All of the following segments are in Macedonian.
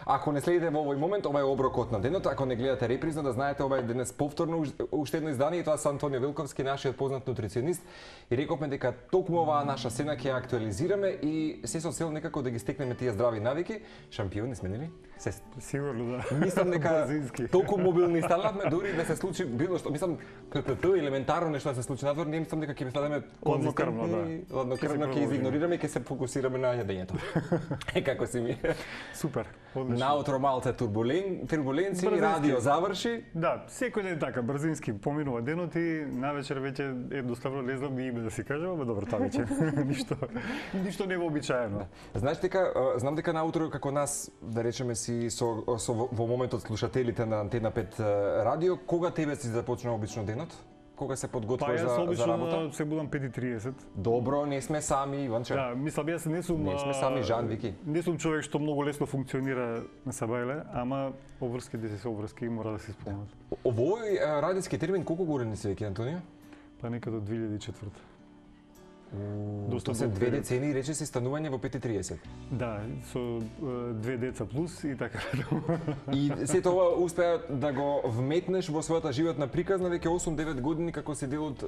Ако не следите во овој момент, ова е оброкот на денот, ако не гледате репризно, да знаете ова е денес повторно уште едно издание и тоа со Антонио Вилковски, нашиот познат нутриционист, и рековме дека токму оваа наша сцена ќе актуализираме и се со цел некако да ги стекнеме тие здрави навики. Шампиони сме, нели? Сигурно да. Мислам дека толку мобилни станавме, дури да се случи било што, мислам елементарно нешто да се случи надвор, не мислам дека ќе станеме конзистентни, ладнокрвно ќе изигнорираме и ќе се фокусираме на јадењето. Како си ми? Супер. Одлично. Наутро малце турбуленци, радио заврши. Да, секој ден така, брзински поминува денот и навечер веќе едноставно не знам ни име да си кажам, ама добро, тоа веќе ништо не е вообичаено. Знаеш дека знам дека наутро како нас, да речеме си во моментот слушателите на Антена 5 радио, кога тебе си започна обично денот? Кога се подготвуваш за работа? Се будам 5:30. Добро, не сме сами, Иванче. Да, мислам, јас не сме сами, Жан, Вики. Не сум човек што многу лесно функционира на сабајле, ама обврски да се обврски и мора да се исполнат. Овој радиски термин колку години си веќе, Антонио? Па некаде од 2004. Доста се 2 децени, рече си станување во 5:30. Да, со 2 деца плюс и така. И сето ова успеа да го вметнеш во својата животна приказна веќе 8-9 години како си дел од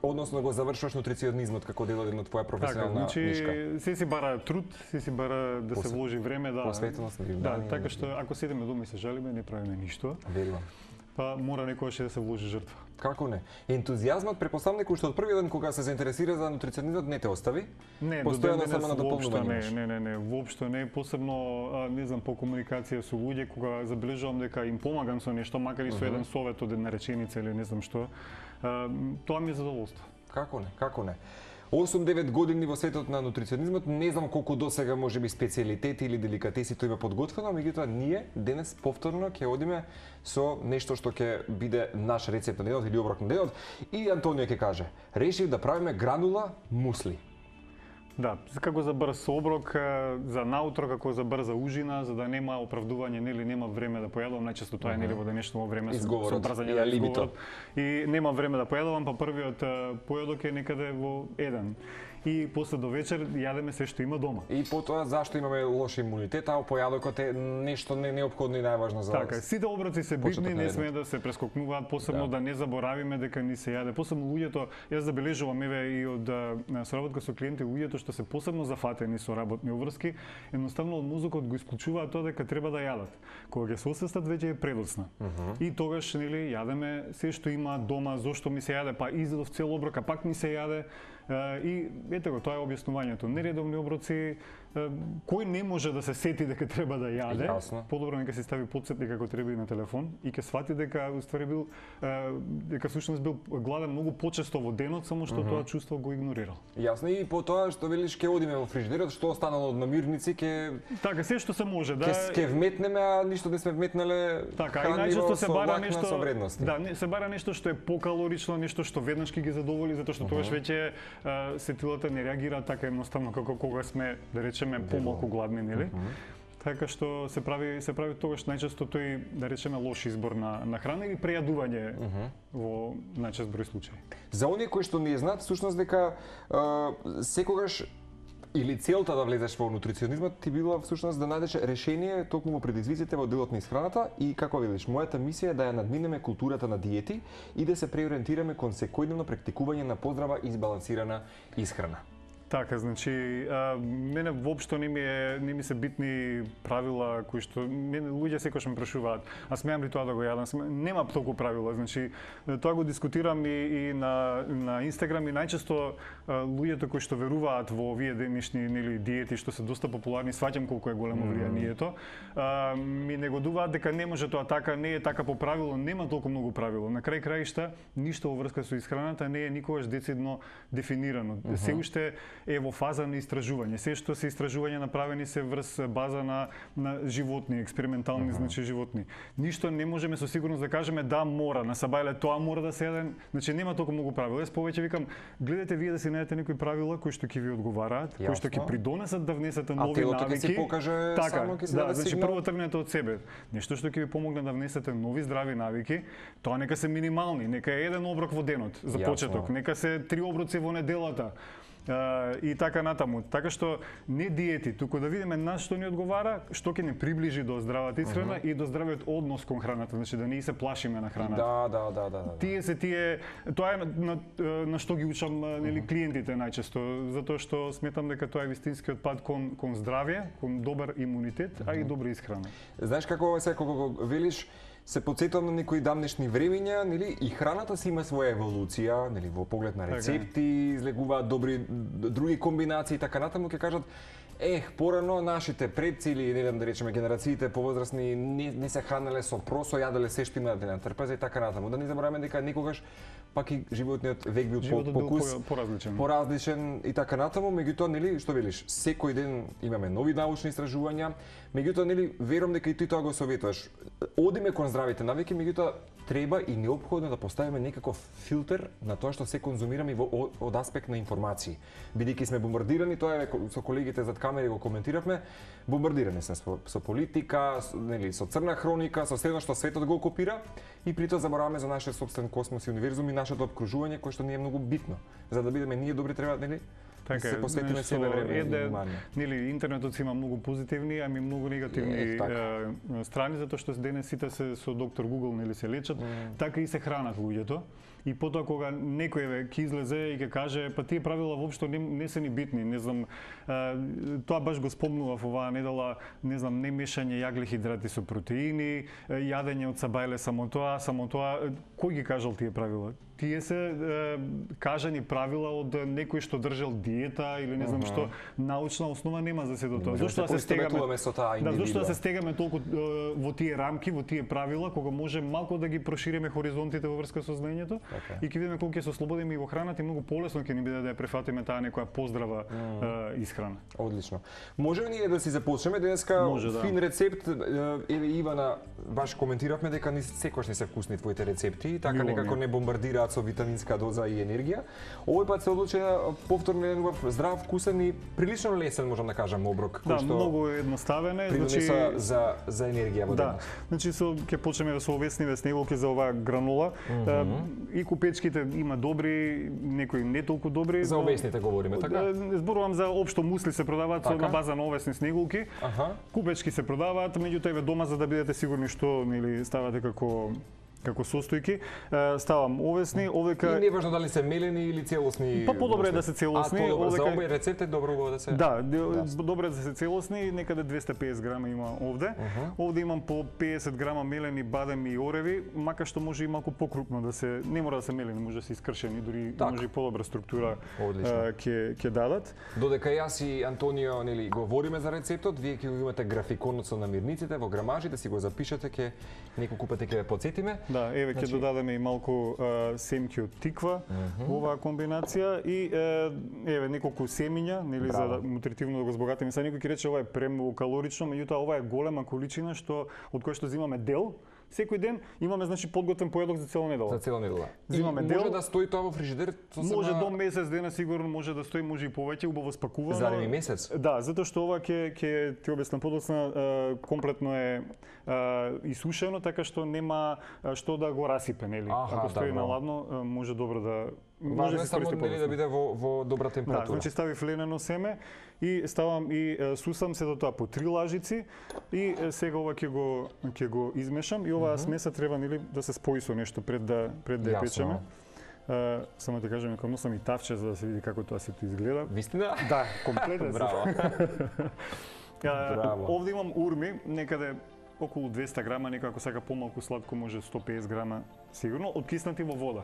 односно го завршуваш нутриционизмот како дел од твоја професионална нишка. Значи, се си бара труд, се си бара да се вложи време, да. Посветеност, да, така што ако седиме дома и се жалиме, не правиме ништо. Верувам. Па мора некогаш да се вложи жртва. Како не? Ентузијазмот претпоставам дека уште од првиот ден кога се заинтересира за нутриционизмот не те остави? Не, постојано само на дополнување. Не, воопшто не, посебно не знам по комуникација со луѓе кога забележувам дека им помагам со нешто, макар и со еден совет од една реченица или не знам што, тоа ми е задоволство. Како не? 8-9 години во светот на нутриционизмот, не знам колку досега можеби специјалитети или деликатеси тоа има подготвено, меѓутоа ние денес повторно ќе одиме со нешто што ќе биде наш рецепт на денот или оброк на денот и Антонио ќе каже: решив да правиме гранула мусли. Да, како за брз оброк, за наутро, како за брза ужина, за да нема оправдување, нели нема време да појадувам, најчесто тоа е нели во денешно време со брзање на изговорот. И нема време да појадувам, па првиот појадок е некаде во 1. И после до вечер јадеме се што има дома. И потоа зашто имаме лош имунитет, а појадокот е нешто неопходно и најважно за така, сите оброци се битни, не смее да се прескокнуваат, посебно да не заборавиме дека ни се јаде. Посебно луѓето, јас забележувам еве и од соработка со клиенти, луѓето што се посебно зафатени со работни обврски, едноставно од мозокот го исклучуваат тоа дека треба да јадат. Кога ќе се освестат веќе е предоцна. И тогаш нели јадеме се што има дома, зошто ми се јаде, па изедов цел оброк, а пак ми се јаде. И ете го, тоа е објаснувањето. Нередовни оброци, кој не може да се сети дека треба да јаде, подобро нека се стави потсетник како треба и на телефон и ќе свати дека уствари бил дека всушност бил гладен многу почесто во денот, само што тоа чувство го игнорирал. Јасно, и по тоа што велиш ќе одиме во фрижидерот, што останало од намирници ќе така се што се може, да. Ќе вметнеме, а ништо не сме вметнале. Така, и најчесто се бара нешто со вредности. Да, се бара нешто што е покалорично, нешто што веднаш ќе ги задоволи, затоа што тогаш веќе сетилата не реагира така едноставно како кога сме, да речеме, помалку гладни, нели? Така што се прави тогаш најчесто тој, да речеме, лош избор на храна или прејадување во најчест број случаи. За оние кои што не знаат, всушност дека секогаш или целта да влезеш во нутриционизмот ти била всушност да најдеш решение токму во предизвиците во делот на исхраната и како велиш, мојата мисија е да ја надминеме културата на диети и да се преориентираме кон секојдневно практикување на поздрава и избалансирана исхрана. Така, значи, мене воопшто не ми се битни правила кои што луѓе секогаш ме прашуваат. А смеам ли тоа да го јадам? Нема толку правила, значи тоа го дискутирам и на Инстаграм и најчесто луѓето кои што веруваат во овие денешни нели диети што се доста популарни, сваќам колку е големо влијанието, ми негодуваат дека не може тоа така, не е така по правило, нема толку многу правило. На крај краишта ништо во врска со исхраната не е никогаш децидно дефинирано. Се уште е во фаза на истражување. Се што се истражувања направени се врз база на животни, експериментални значи животни. Ништо не можеме со сигурност да кажеме да мора, на сабајле тоа мора да се јаде, значи нема толку многу правила. Јас повеќе викам, гледате вие да си најдете некои правила кои што ќе ви одговараат, кои што ќе придонесат да внесете нови навики. Ќе си покаже така, само ќе се да, значи прво тргнете од себе. Нешто што ќе ви помогне да внесете нови здрави навики, тоа нека се минимални, нека е еден оброк во денот за почеток, нека се 3 оброци во неделата. и така натаму. Така што не диети, туку да видиме на што ни одговара, што ќе ни приближи до здравата исхрана и до здравиот однос кон храната, значи да не се плашиме на храната. Да. Тоа е на што ги учам нели клиентите најчесто, затоа што сметам дека тоа е вистинскиот пат кон здравје, кон добар имунитет, а и добра исхрана. Знаеш како кога велиш, се потсетувам на некои давнешни времиња, нели, и храната си има своја еволуција, нели, во поглед на рецепти, излегуваат добри други комбинации и така натаму, ќе кажат порано нашите предци или не знам да речеме генерациите повозрасни не се хранеле со просо, јаделе се што имаат на трпеза и така натаму. Да не забораваме дека некогаш пак и животниот век бил поразличен и така натаму, меѓутоа нели што велиш, секој ден имаме нови научни истражувања, меѓутоа нели верувам дека и ти тоа го советуваш. Одиме кон здравите навики, меѓутоа треба и неопходно да поставиме некаков филтер на тоа што се конзумираме од аспект на информации. Бидејќи сме бомбардирани, тоа е со колегите зад камери го коментиравме, бомбардирани сме со политика, нели, со црна хроника, со седно што светот го окупира и притоа забораваме за нашиот собствен космос и универзум и нашето обкружување кое што ни е многу битно. За да бидеме ние добри треба, нели, да се посветиме себе време и внимание. Нели, интернетот си има многу позитивни, ами многу негативни страни, затоа што денес сите се со доктор Google, нели, се лечат, така и се хранат луѓето. И потоа кога некој ќе излезе и ќе каже, па тие правила воопшто не се ни битни, не знам, тоа баш го спомнував оваа недела, не знам, не мешање јаглехидрати со протеини, јадење од сабајле само тоа, кој ги кажал тие правила? Тие се кажани правила од некој што држал диета или не знам што, научна основа нема за сето тоа. Зошто да се стегаме толку во тие рамки, во тие правила, кога може малку да ги прошириме хоризонтите во врска со знаењето и ќе видиме колку ќе се ослободиме и во храната и многу полесно ќе ни биде да ја префатиме таа некоја поздрава исхрана. Одлично. Може ние да си започнеме денеска фин рецепт, еве Ивана, баш коментиравме дека секогаш не се вкусни твоите рецепти, така некако не бомбардираат со витаминска доза и енергија. Овој пат се одлучи повторно еден здрав, вкусен и прилично лесен, можам да кажам, оброк кој што многу едноставен е, значи за енергија во денот. Значи ќе почнеме со овесни снегулки за оваа гранула. И купечките има добри, некои не толку добри. За овесните говориме, така? Зборувам за општо мусли се продаваат на база на овесни снегулки. Купечки се продаваат, меѓутоа еве дома за да бидете сигурни што нели ставате како состојки, ставам овесни, овека. И не важно дали се мелени или целосни. Па подобро е да се целосни. За овој рецепт е добро да се. Да, добро е да се целосни, некаде 250 грама има овде. Овде имам по 50 грама мелени бадем и ореви, мака што може и малку покрупно да се, не мора да се мелени, може да се искршени, дури може и подобра структура ќе дадат. Додека јас и Антонио нели говориме за рецептот, вие ќе го имате графиконот со намирниците во грамажите, си го запишете, ќе неколку пати ќе ве потсетиме. Да, еве ќе додадеме и малку семки од тиква во оваа комбинација и еве неколку семиња, нели за нутритивно да го збогатиме. Сега некој ќе рече ова е премногу калорично, меѓутоа ова е голема количина од која што земаме дел. Секој ден имаме значи подготвен поедок за цела недела. За цела недела. Земаме дел. Може да стои тоа во фрижидер? Може до месец дена сигурно може да стои, може и повеќе, убаво спакувано. За еден месец? Да, затоа што ова ќе ти објаснам подоцна, комплетно е исушено, така што нема што да го расипе, нели? Ако стои на ладно, може добро да може да се само да биде во добра температура. Да, значи ставив ленено семе и ставам и сусам се до тоа по 3 лажици и сега ова ќе го измешам и оваа смеса треба нели да се спои со нешто пред да ја печеме. Само ти кажам, дека носам и тавче за да се види како тоа сето изгледа. Вистина? Да, комплетно. Браво. Овде имам урми, некаде околу 200 грама, некој ако сака помалку сладко може 150 грама сигурно, откиснати во вода.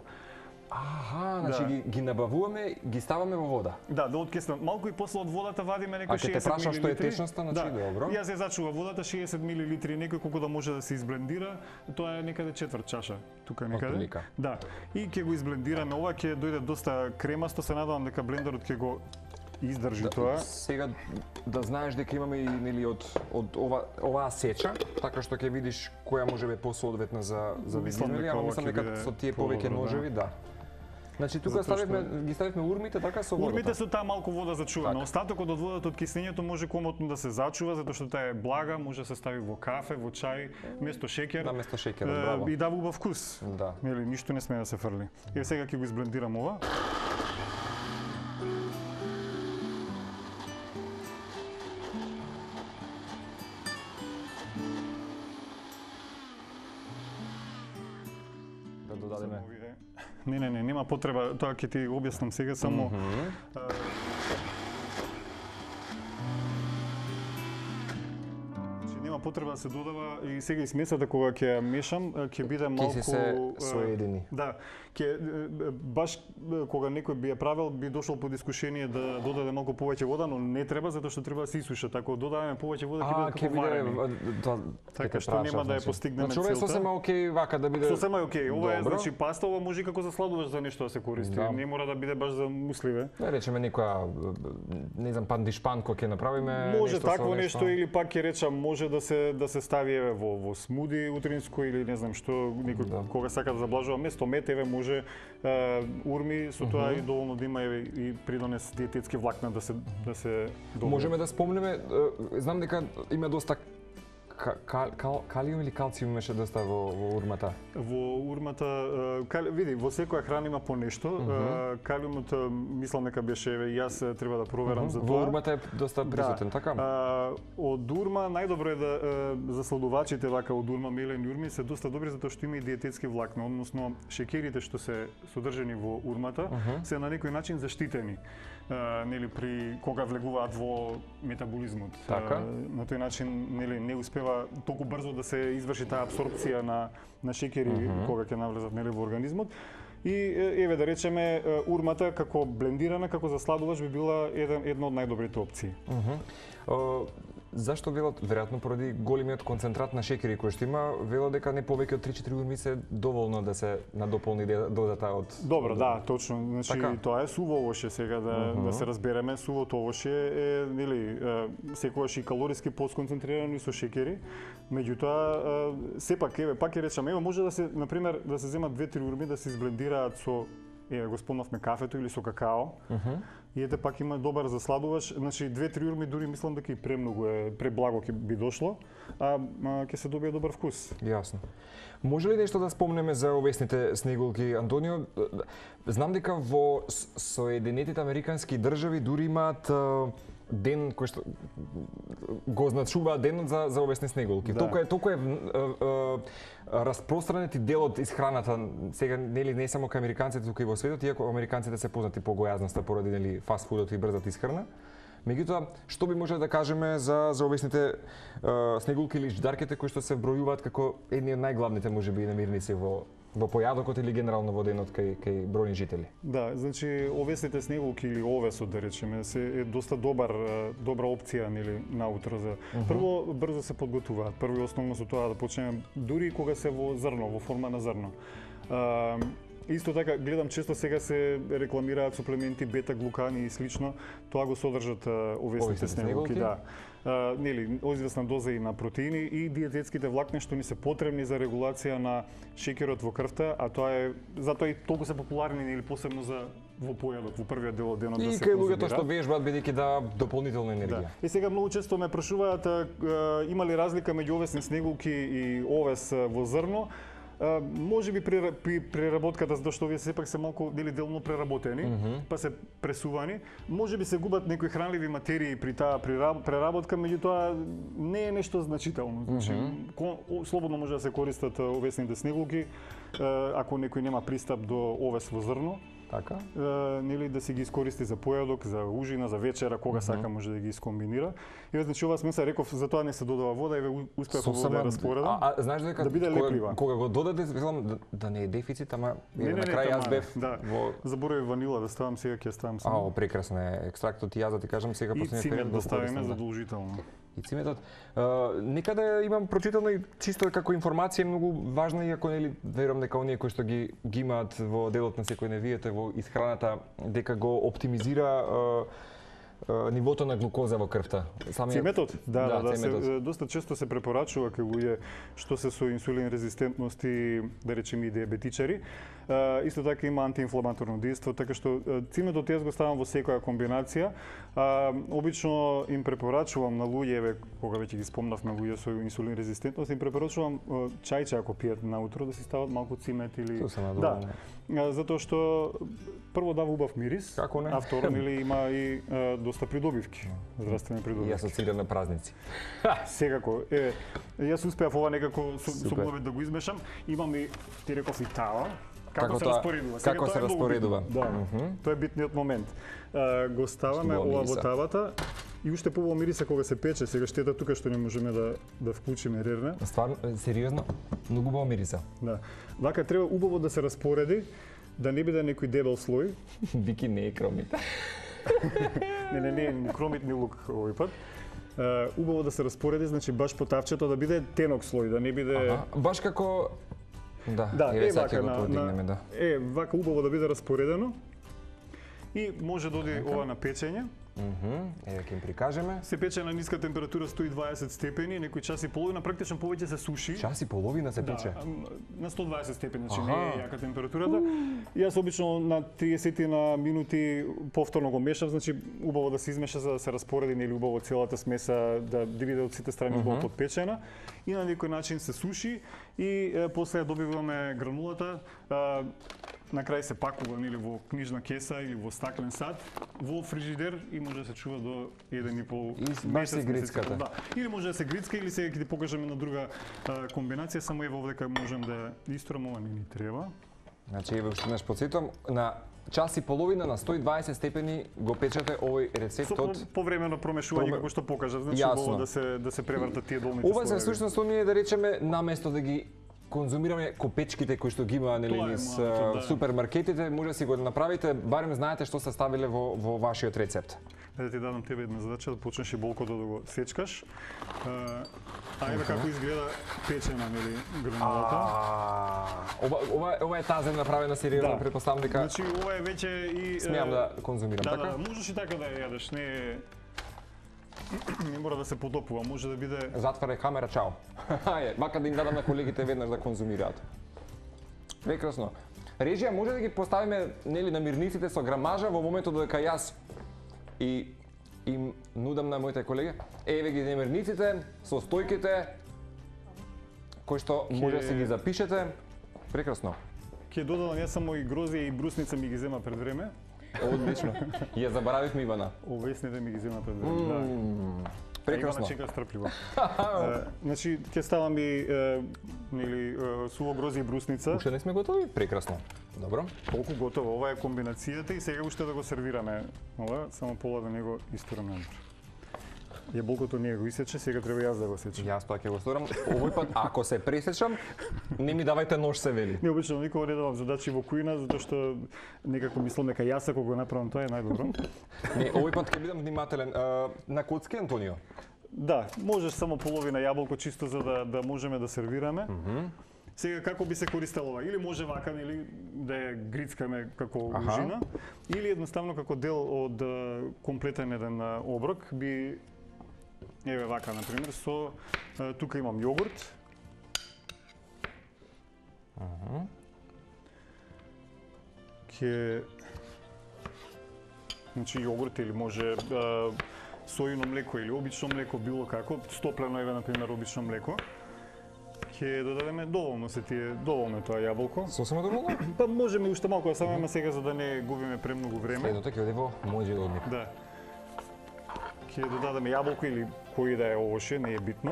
Значи ги набавуваме, ги ставаме во вода. Да откиснат малку и после од водата вадиме некој 60 мл. А ќе те прашам што е течноста, значи добро. Јас ја зачува водата 60 мл, некој колку да може да се изблендира, тоа е некаде четврт чаша, тука некаде. Да. И ќе го изблендираме, ова ќе дојде доста кремасто, се надевам дека блендерот ќе го издржи тоа. Сега да знаеш дека имаме и нели од оваа сеча, така што ќе видиш која може би посоодветна за видење, ама мислам дека со тие повеќе ножеви, да. Значи тука ги ставивме урмите така со водата. Урмите со таа малку вода зачувана. Остатокот од водата од киснењето може комотно да се зачува затоа што таа е блага, може да се стави во кафе, во чај, место шеќер. Да, место шеќер, браво. И дава убав вкус. Да. Нели ништо не сме да се фрли. Еве сега ќе го изблендирам ова. вадиме? Не, нема потреба, тоа ќе ти објаснам сега само. Нема потреба да се додава и сега и смесата кога ќе ја мешам, ќе биде малку Ќе се соедини. Да, ќе баш кога некој би ја правил, би дошол под искушение да додаде малку повеќе вода, но не треба затоа што треба да се исуша. Така додаваме повеќе вода ќе биде како варени. Така што нема да ја постигнеме целта. Значи ова е сосема окей вака да биде. Сосема е окей. Ова е значи паста, ова може и како за сладуваш за нешто да се користи. Не мора да биде баш за мусливе. Да речеме некоја не знам пандишпанко ќе направиме може такво нешто или пак ќе речам може да се стави еве во смуди утринско или не знам што некој кога сака да заблажува место мет еве може урми со тоа и доволно да има еве и придонес диететски влакна да се добре. Можеме да спомнеме, знам дека има доста калиум или калциум имаше доста во урмата? Во урмата, види, во секоја храна има по нешто. Калиумот, мислам дека беше, јас треба да проверам за тоа. Во урмата е доста присутен, така? Од урма, најдобро е за сладувачите вака од урма, мелени урми, се доста добри затоа што има и диететски влакна, односно шеќерите што се содржани во урмата, се на некој начин заштитени. Нели при кога влегуваат во метаболизмот. Така? На тој начин нели не успева толку брзо да се изврши таа апсорпција на шеќери кога ќе навлезат нели во организмот. И еве да речеме урмата како блендирана, како за сладувач би била една од најдобрите опции. Зашто велат, веројатно поради големиот концентрат на шеќери кој што има, велат дека не повеќе од 3-4 урми се доволно да се надополни дозата од. Добро, да, точно. Значи тоа е суво овоше сега да се разбереме, сувото овоше е нели секогаш и калориски посконцентрирано и со шеќери. Меѓутоа сепак еве пак ќе речам, еве може да се на пример да се земат 2-3 урми да се изблендираат со го спомнавме кафето или со какао. И ете пак има добар за сладувач, значи 2-3 урми дури мислам дека и премногу е, преблаго ќе би дошло, а ќе се добие добар вкус. Јасно. Може ли нешто да спомнеме за овесните снегулки, Антонио? Знам дека во Соединетите Американски држави дури имаат ден кој што го означуваат денот за овесни снегулки. Да. Толку е распространет и делот из храната, сега нели не само кај американците, туку и во светот, иако американците се познати по гојазноста поради нели фастфудот и брзата исхрана. Меѓутоа, што би можеле да кажеме за овесните снегулки или ждарките кои што се вбројуваат како едни од најглавните можеби намирници во појадокот или генерално во денот кај бројни жители? Да, значи овесните снегулки или овесот да речеме е доста добра опција нели наутро за. Прво брзо се подготуваат. Прво и основно со тоа да почнеме дури кога се во зрно, во форма на зрно. Исто така гледам често сега се рекламираат суплементи бета-глукани и слично, тоа го содржат овесните снегулки, да. Нели, известна доза и на протеини и диететските влакни што ни се потребни за регулација на шеќерот во крвта, а тоа е затоа и толку се популарни нели посебно за во појадок, во првиот дел од денот да се конзумира. И кај луѓето што вежбаат бидејќи да дополнителна енергија. Да. И сега многу често ме прашуваат има ли разлика меѓу овесни снегулки и овес во зрно? Може би при преработката, затоа што овие сепак се малку дели делно преработени, па се пресувани. Може би се губат некои хранливи материи при таа преработка, меѓутоа не е нешто значително. Значи, слободно може да се користат овесните снегулки, ако некој нема пристап до овес во зрно. Така? Нели да си ги искористи за појадок, за ужина, за вечера, кога сака може да ги искомбинира. И значи ова смеса реков за тоа не се додава вода, еве успеав да ја распоредам. Знаеш дека да биде леплива. Кога го додаде, велам да не е дефицит, ама на крај јас бев во заборавив ванила да ставам, сега ќе ставам само. Прекрасно е екстрактот и јас да ти кажам сега последниот период. И цимет да ставиме задолжително. Ициметот. Некаде имам прочитано и чисто како информација многу важна, иако нели верувам дека оние кои што ги имаат во делот на секојдневието во исхраната дека го оптимизира нивото на глукоза во крвта.Циметот? Да, доста често се препорачува кај луѓе што се со инсулин резистентност и да речеме и диабетичари. Исто така има антиинфламаторно дејство, така што циметот јас го ставам во секоја комбинација. Обично им препорачувам на луѓе, кога веќе ги спомнавме луѓе со инсулин резистентност, им препорачувам чајче ако пијат наутро да си стават малку цимет или затоа што прво дава убав мирис, а второ нели има и доста придобивки, здравствени придобивки. И асоциран на празници. Секако. Јас успеав ова некако со убавет да го измешам. Имам и ти реков и тава. Како се распоредува? Сега Како тоа се е многу распоредува? битно. Да, тоа е битниот момент. Го ставаме Што ова мириса. во тавата и уште побаво мириса кога се пече. Сега штета тука што не можеме да вклучиме рерне. Стварно, сериозно, многу убаво мириса. Да. Вака треба убаво да се распореди, да не биде некој дебел слој. Бики не е кромит. Не, ни кромит ни лук овој пат. Убаво да се распореди, значи баш по тавчето да биде тенок слој, да не биде... Аха, баш како... Да, е сега вака ќе го подигнеме, да. вака убаво да биде распоредено. И може да оди ова на печење. Еве ќе им прикажеме. Се пече на ниска температура 120 степени, некој час и половина, практично повеќе се суши. Час и половина се пече. Да, на 120 степени, значи Аха. не е јака температурата. Јас обично на 30 на минути повторно го мешам, значи убаво да се измеша за да се распореди нели убаво целата смеса, да биде од сите страни убаво подпечена и на некој начин се суши и после ја добиваме гранулата. На крај се пакува нели во книжна кеса или во стаклен сад, во фрижидер и може да се чува до 1,5 И баш се грицката. Да. Или може да се грицка или сега ќе ти покажеме на друга комбинација, само ево овде кај можем да истурам, ова не ни треба. Значи, еве уште еднаш потсетувам, на час и половина на 120 степени го печете овој рецепт од... Повремено промешување како што покажав, значи Јасно. убаво да се превртат тие долните Ова се слоеви. всушност оние да речеме наместо да ги конзумираме копечките кои што ги има нели Тоа е низ моето, да. супермаркетите, може да си го направите, барем знаете што се ставиле во вашиот рецепт. Да ти дадам тебе една задача да почнеш и болкото да го сечкаш. Ајде како изгледа печена нели гранулата. Ова е тазен направена сериозно, претпоставам дека Значи ова е веќе и смеам да конзумирам, Да, така? можеш и така да ја јадеш, не мора да се подопува, може да биде Затварај камера, чао. Ајде, мака да им дадам на колегите веднаш да конзумираат. Прекрасно. Режија, може да ги поставиме нели намирниците со грамажа во моментот дека јас и им нудам на моите колеги. Еве ги намирниците со стојките кои што може да се ги запишете. Прекрасно. ќе додадам јас само и грозија и брусница ми ги зема пред време. Одлично. Ја заборавивме Ивана. Овесните ми ги зема пред време. Да. Прекрасно. Ивана чека стрпливо. Значи ќе ставам и нели суво грозје и брусница. Уште не сме готови? Прекрасно. Добро. Колку готово, ова е комбинацијата и сега уште да го сервираме. Ова само пола да не го истураме надвор. Јаболкото не го исече, сега треба јас да го сечам. Јас тоа ќе го сторам. Овој пат ако се пресечам, не ми давајте нож, се вели. Не обично никога не давам задачи во кујна затоа што некако мислам дека јас ако го направам тоа е најдобро. Не, овој пат ќе бидам внимателен. На коцки, Антонио? Да, можеш само половина јаболко чисто за да можеме да сервираме. Сега како би се користело ова? Или може вака, или да ја грицкаме како ужина, или едноставно како дел од комплетен еден оброк би еве вака на пример со тука имам јогурт. Ќе значи јогурт или може сојно млеко или обично млеко, било како, стоплено еве на пример обично млеко. Ќе додадеме доволно доволно тоа јаболко. Сосема доволно? Па можеме уште малку да ставиме сега за да не губиме премногу време. Следното ќе оде во мојот одник. Да. Ќе додадеме јаболко или кој да е овоше, не е битно.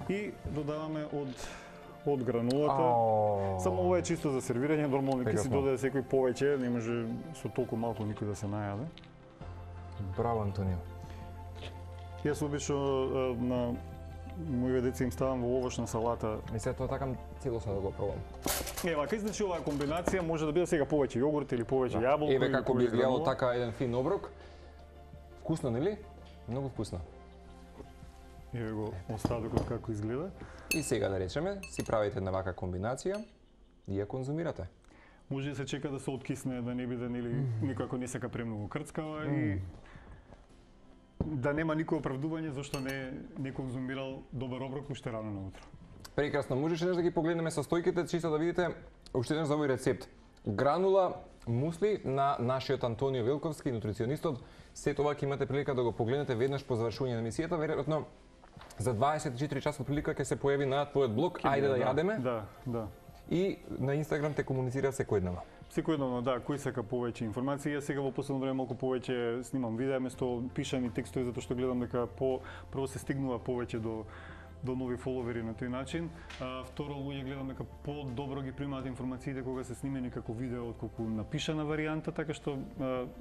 И додаваме од гранулата. Само ова е чисто за сервирање, нормално ќе си додаде секој повеќе, не може со толку малку никој да се најаде. Браво, Антонио. Јас обично на моите деца им ставам во овошна салата. И се тоа такам целосно да го пробам. Вака значи оваа комбинација може да биде сега повеќе јогурт или повеќе јаболко. Еве како би изгледало така еден фин оброк. Вкусно, нели? Многу вкусно. Еве го остатокот како изгледа. И сега да речеме, си правите една вака комбинација и ја конзумирате. Може да се чека да се откисне, да не биде нели никако не сека премногу крцкава и да нема никој оправдување зашто не конзумирал добар оброк уште рано наутро. Прекрасно, можеше да ги погледнеме состојките, чисто да видите уште еднаш за овој рецепт. Гранула мусли на нашиот Антонио Велковски, нутриционистот. Сето ова ќе имате прилика да го погледнете веднаш по завршување на емисијата, веројатно за 24 часот прилика ќе се појави на твојот блог Ајде да јадеме. Да. И на Инстаграм те комуницира секојдневно. Секојдневно, да, кој сака повеќе информации. Јас сега во последно време малку повеќе снимам видеа место пишани текстови затоа што гледам дека прво се стигнува повеќе до нови фоловери на тој начин. Второ, луѓе гледам дека по-добро ги примаат информациите кога се снимени како видео отколку напишана варијанта, така што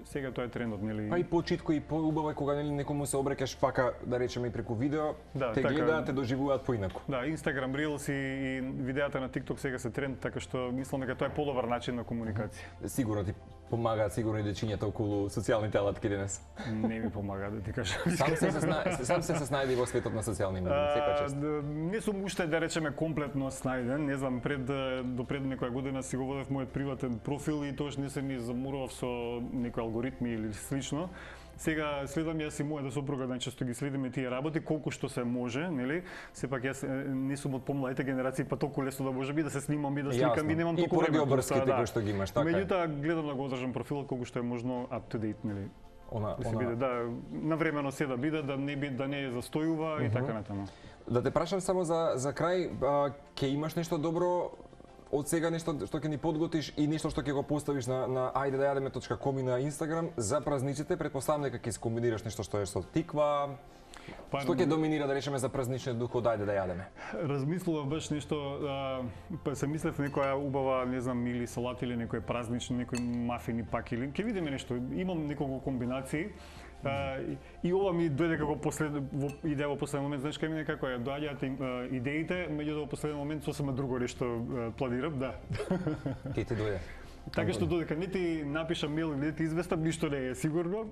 сега тоа е трендот, нели? Па и почитко и поубаво е кога нели некому се обрекаш пака да речеме и преку видео, те гледаат, те доживуваат поинаку. Да, Instagram Reels и видеата на TikTok сега се тренд, така што мислам дека тоа е подобар начин на комуникација. Сигурно ти помагаат сигурно и дечињата околу социјалните алатки денес. Не ми помага да ти кажам. Сам се снајди во светот на социјални медии, секоја чест. Не сум уште да речеме комплетно снајден, не знам, до пред некоја година си го водев мојот приватен профил и тоаш не се ни замурував со некои алгоритми или слично. Сега следам јас и мојата сопруга, најчесто ги следиме тие работи колку што се може, нели? Сепак јас не сум од помладите генерации, па толку лесно да може би да се снимам и да сликам и немам толку време. И поради обрските кои што ги имаш, така. Меѓутоа гледам да го одржам профилот колку што е можно up to date, нели? Да се биде, да, навремено се да биде, да не застојува и така натаму. Да те прашам само за крај, ќе имаш нешто добро од сега, нешто што ќе ни подготвиш и нешто што ќе го поставиш на ajdedaјадеме.com и на Инстаграм за празниците? Претпоставам дека ќе скомбинираш нешто што е со тиква. Што ќе доминира, да речеме, за празничниот дух од ајде да јадеме? Размислував баш нешто, па се мислев некоја убава, не знам, или салат или некој празнични, некои мафини пак или ќе видиме нешто. Имам неколку комбинации. И ова ми дојде како идеја во последен момент, знаеш кај мене како ја доаѓаат идеите, меѓутоа во последен момент сосема друго нешто планирам, да. Ке ти дојде? Така што додека не ти напишам мејл или не ти известам, ништо не е сигурно.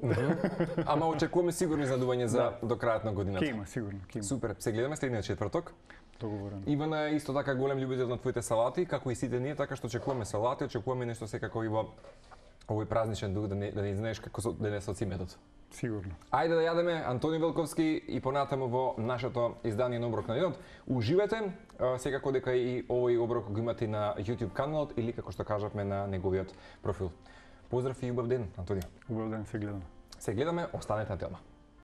Ама очекуваме сигурно изнадување за до крајот на годината. Ке има, сигурно. Супер, се гледаме следниот четврток. Договорено. Ивана е исто така голем љубител на твоите салати, како и сите ние, така што очекуваме салати, очекуваме нешто секако и во овој празничен дух да не знаеш како денес од иметот. Сигурно. Ајде да јадеме, Антони Велковски и понатаму во нашето издание на Оброк на денот. Уживете, секако дека и овој оброк го имате на YouTube каналот или како што кажавме на неговиот профил. Поздрав и убав ден, Антони. Убав ден, се гледаме. Се гледаме, останете на телма.